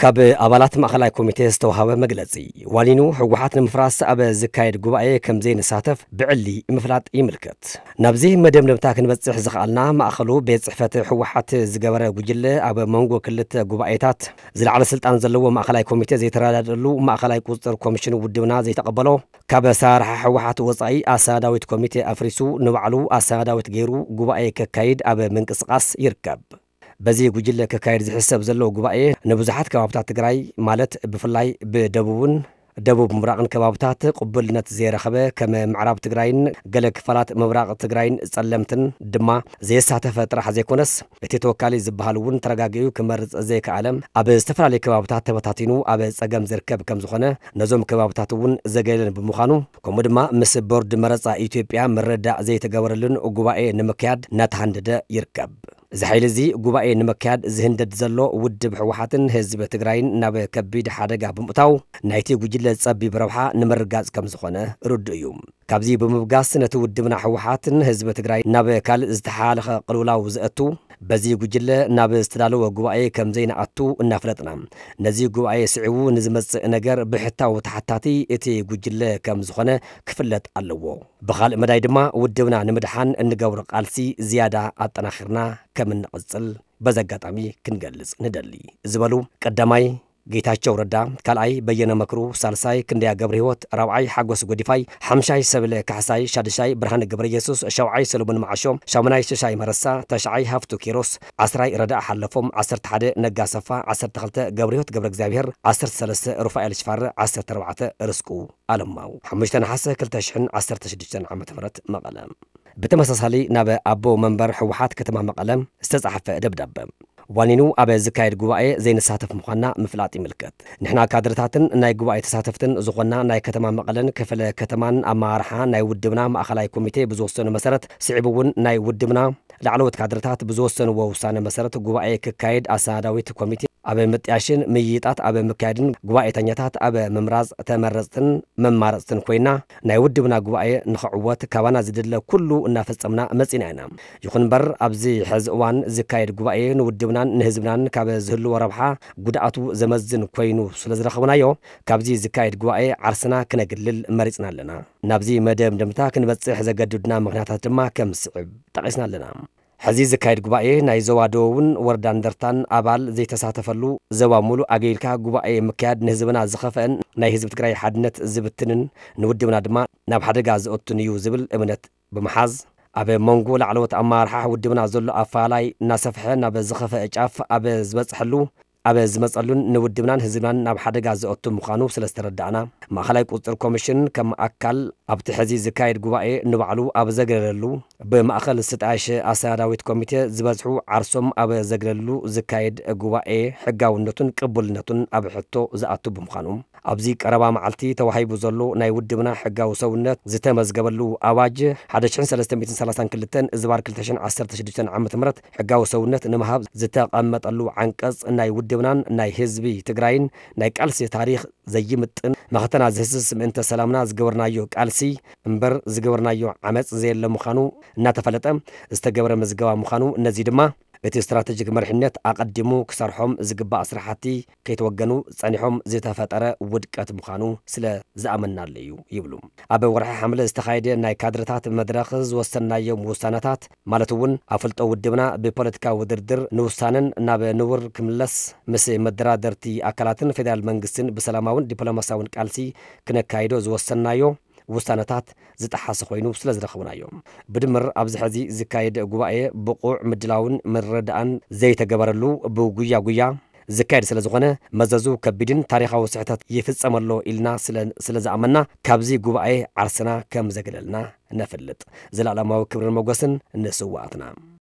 ካብ ኣባላት ማእኸላይ ኮሚቴ ዝተዋሃበ መግለጺ፣ ዋኒኑ ህወሓት ንምፍራስ ኣብ ዝካየድ ጉባኤ ከም ዘይንሳተፍ ብዕሊ ምፍላጥ ይምልከት። ናብዚ መደምደምታ ክንበጽሕ ዝኸኣልና፣ ማእኸሉ ቤት ጽሕፈት ህወሓት ዝገበረ ጉጅለ ኣብ መንጎ ክልተ ጉባኤታት ዝለዓለ ስልጣን ዘለዎ ማእኸላይ ኮሚቴ ዘይተረዳድኣሉ፣ ማእኸላይ ቁፅፅር ኮሚሽን ውድብና ዘይተቐበሎ፣ ካብ ኣሰራርሓ ህወሓት ወፃኢ ኣሰናዳዊት ኮሚቴ ኣፍሪሱ ንባዕሉ ኣሰናዳዊት ገይሩ ጉባኤ ከካይድ ኣብ ምንቅስቃስ ይርከብ። በዚ ጉጅለ ከካየድ ዝሕሰብ ዘሎ ጉባኤ ንብዙሓት ከባብታት ትግራይ፣ ማለት ብፍላይ ብደቡብን ደቡብ ምብራቕን ከባብታት ቅቡልነት ዘይረኸበ፣ ከም ምዕራብ ትግራይን ገለ ክፋላት ምብራቕ ትግራይን ጸለምትን ድማ ዘየሳተፈ ጥራሕ ዘይኮነስ፣ እቲ ተወካሊ ዝበሃል እውን ተረጋጊኡ ክመርጽ ዘይከኣለ፣ ኣብ ዝተፈላለዩ ከባብታት ተበታቲኑ ኣብ ጸገም ዝርከብ ከም ዝኾነ፣ ነዞም ከባብታት እውን ዘገለለን ብምዃኑ፣ ከምኡ ድማ ምስ ቦርድ መረጻ ኢትዮጵያ ምርድዳእ ዘይተገበረሉን ጉባኤ ንምክያድ እናተሃንደደ ይርከብ። እዚ ሓይሊ እዚ ጉባኤ ንምክያድ ዝህንደድ ዘሎ ውድብ ህወሓትን ህዝቢ ትግራይን ናብ ከቢድ ሓደጋ ብምእታው፣ ናይቲ ጉጅለ ጸቢብ ረብሓ ንምርጋጽ ከም ዝኾነ ርዱእ እዩ። ካብዚ ብምብጋስ፣ ነቲ ውድብና ህወሓትን ህዝቢ ትግራይ ናብ ካልእ ዝተሓላለኸ ቅልውላው ዘእቱ፣ በዚ ጉጅለ ናብ ዝተዳለወ ጉባኤ ከም ዘይንኣቱ እናፍለጥና፣ ነዚ ጉባኤ ስዒቡ ንዝመጽእ ነገር ብሕታዊ ተሓታቲ እቲ ጉጅለ ከም ዝኾነ ክፍለጥ ኣለዎ። ብኻልእ መዳይ ድማ፣ ውድብና ንምድሓን እንገብሮ ቃልሲ ዝያዳ ኣጠናኺርና ከም እንቕጽል በዚ ኣጋጣሚ ክንገልጽ ንደሊ፣ ዝበሉ ቀዳማይ ጌታቸው ረዳ፣ ካልኣይ በየነ መክሩ፣ ሳልሳይ ክንደያ ገብረ ህይወት፣ ራብዓይ ሓጎስ ጎዲፋይ፣ ሓምሻይ ሰብለ ካሕሳይ፣ ሻድሻይ ብርሃነ ገብረ ኢየሱስ፣ ሸውዓይ ሰሎሞን መዓሾ፣ ሻሙናይ ሽሻይ መረሳ፣ ተሽዓይ ሃፍቱ ኪሮስ፣ ዓስራይ ረዳእ ሓለፎም፣ ዓሰርተ ሓደ ነጋ ሰፋ፣ ዓሰርተ ክልተ ገብረ ህይወት ገብረ እግዚኣብሔር፣ ዓሰርተ ሰለስተ ሩፋኤል ሽፋረ፣ ዓሰርተ ኣርባዕተ ርስቁ ኣለማው። ሓሙሽተ ነሓሰ ክልተ ሽሕን ዓሰርተ ሽዱሽተን ዓመተ ምህረት መቐለ። ብተመሳሳሊ ናብ ኣቦ መንበር ህወሓት ከተማ መቐለ ዝተጻሕፈ ደብዳበ። ዋኒኑ ኣብ ዝካየድ ጉባኤ ዘይንሳተፍ ምዃንና ምፍላጥ ይምልከት። ንሕና ካድርታትን ናይ ጉባኤ ተሳተፍትን ዝኾንና ናይ ከተማ መቐለን ክፍለ ከተማን ኣመራርሓ ናይ ውድብና ማእኸላይ ኮሚቴ ብዝወሰኑ መሰረት፣ ስዒቡ እውን ናይ ውድብና ላዕለዎት ካድርታት ብዝወሰንዎ ውሳነ መሰረት፣ ጉባኤ ክካየድ ኣሰናዳዊት ኮሚቴ ኣብ ምጥያሽን ምይይጣት ኣብ ምክያድን ጉባኤተኛታት ኣብ ምምራጽ ተመረጽትን መማረጽትን ኮይና፣ ናይ ውድብና ጉባኤ ንኽዕወት ካባና ዝድለ ኩሉ እናፈጸምና መጺና ኢና። ይኹን እምበር፣ ኣብዚ ሕዚ እዋን ዝካየድ ጉባኤ ንውድብናን ንህዝብናን ካብ ዝህልዎ ረብሓ ጉድኣቱ ዘመዝን ኮይኑ ስለ ዝረኸብናዮ፣ ካብዚ ዝካየድ ጉባኤ ዓርስና ክነግልል መሪጽና ኣለና። ናብዚ መደምደምታ ክንበጽሕ ዘገድዱና ምኽንያታት ድማ ከም ዝስዕብ ጠቒስና ኣለና። ሕዚ ዝካየድ ጉባኤ ናይ ዞባ ደቡብን ወረዳ እንደርታን ኣባል ዘይተሳተፈሉ፣ ዞባ ሙሉእ ኣገልጊልካ ጉባኤ ምክያድ ንህዝብና ዝኸፍአን ናይ ህዝቢ ትግራይ ሓድነት ዝብትንን፣ ንውድብና ድማ ናብ ሓደጋ ዘእቱን እዩ ዝብል እምነት ብምሓዝ፣ ኣብ መንጎ ላዕለዎት ኣመራርሓ ውድብና ዘሎ ኣፈላላይ እናሰፍሐ ናብ ዝኸፍአ ጫፍ ኣብ ዝበፅሐሉ፣ ኣብ ዝመጸሉን ንውድብናን ህዝብናን ናብ ሓደጋ ዘእቱ ምዃኑ ስለ ዝተረዳእና፣ ማእኸላይ ቁፅፅር ኮሚሽን ከም ኣካል ኣብቲ ሕዚ ዝካየድ ጉባኤ ንባዕሉ ኣብ ዘግለለሉ፣ ብማእኸል ዝተጣየሸ ኣሰናዳዊት ኮሚቴ ዝበዝሑ ዓርሶም ኣብ ዘግለሉ ዝካየድ ጉባኤ ሕጋውነቱን ቅቡልነቱን ኣብ ሕቶ ዝኣቱ ብምዃኑ፣ ኣብዚ ቀረባ መዓልቲ ተዋሂቡ ዘሎ ናይ ውድብና ሕጋዊ ሰውነት ዝተመዝገበሉ ኣዋጅ ሓደ ሽሕን ሰለስተ ሚእትን ሰላሳን ክልተን ዝባር ክልተ ሽሕን ዓሰርተ ሽዱሽተን ዓመተ ምህረት ሕጋዊ ሰውነት ንምሃብ ዝተቐመጠሉ ዓንቀጽ፣ ናይ ውድብናን ናይ ህዝቢ ትግራይን ናይ ቃልሲ ታሪኽ ዘይምጥን፣ መኸተና ዝህስስ፣ ምእንተ ሰላምና ዝገበርናዮ ቃልሲ እምበር ዝገበርናዮ ዓመጽ ዘየለ ምዃኑ እናተፈለጠ ዝተገበረ ምዝገባ ምዃኑ፣ ነዚ ድማ እቲ ስትራተጂክ መሪሕነት ኣቐዲሙ ክሰርሖም ዝግባእ ስራሕቲ ከይተወገኑ ጸኒሖም ዝተፈጠረ ውድቀት ምዃኑ ስለ ዝኣመናሉ እዩ ይብሉ። ኣብ ወርሒ ሓምለ ዝተኻየደ ናይ ካድረታት መድረኽ ዝወሰንናዮም ውሳነታት፣ ማለት እውን ኣፍልጦ ውድብና ብፖለቲካዊ ውድድር ንውሳነን ናብ ንቡር ክምለስ ምስ መደራደርቲ ኣካላትን ፌደራል መንግስትን ብሰላማውን ዲፕሎማሲያውን ቃልሲ ክነካይዶ ዝወሰንናዮ ውሳነታት ዝጠሓሰ ኮይኑ ስለ ዝረኸብናዮ። ብድምር ኣብዚ ሕዚ ዝካየድ ጉባኤ ብቑዕ ምድላውን ምርድኣን ዘይተገበረሉ ብጉያ ጉያ ዝካየድ ስለ ዝኾነ መዘዙ ከቢድን ታሪኻዊ ስሕተት ይፍጸም ኣሎ ኢልና ስለ፣ ስለ ዝኣመና ካብዚ ጉባኤ ዓርስና ከም ዘግለልና ነፍልጥ። ዘላለማዊ ክብርን ሞገስን ንስውኣትና።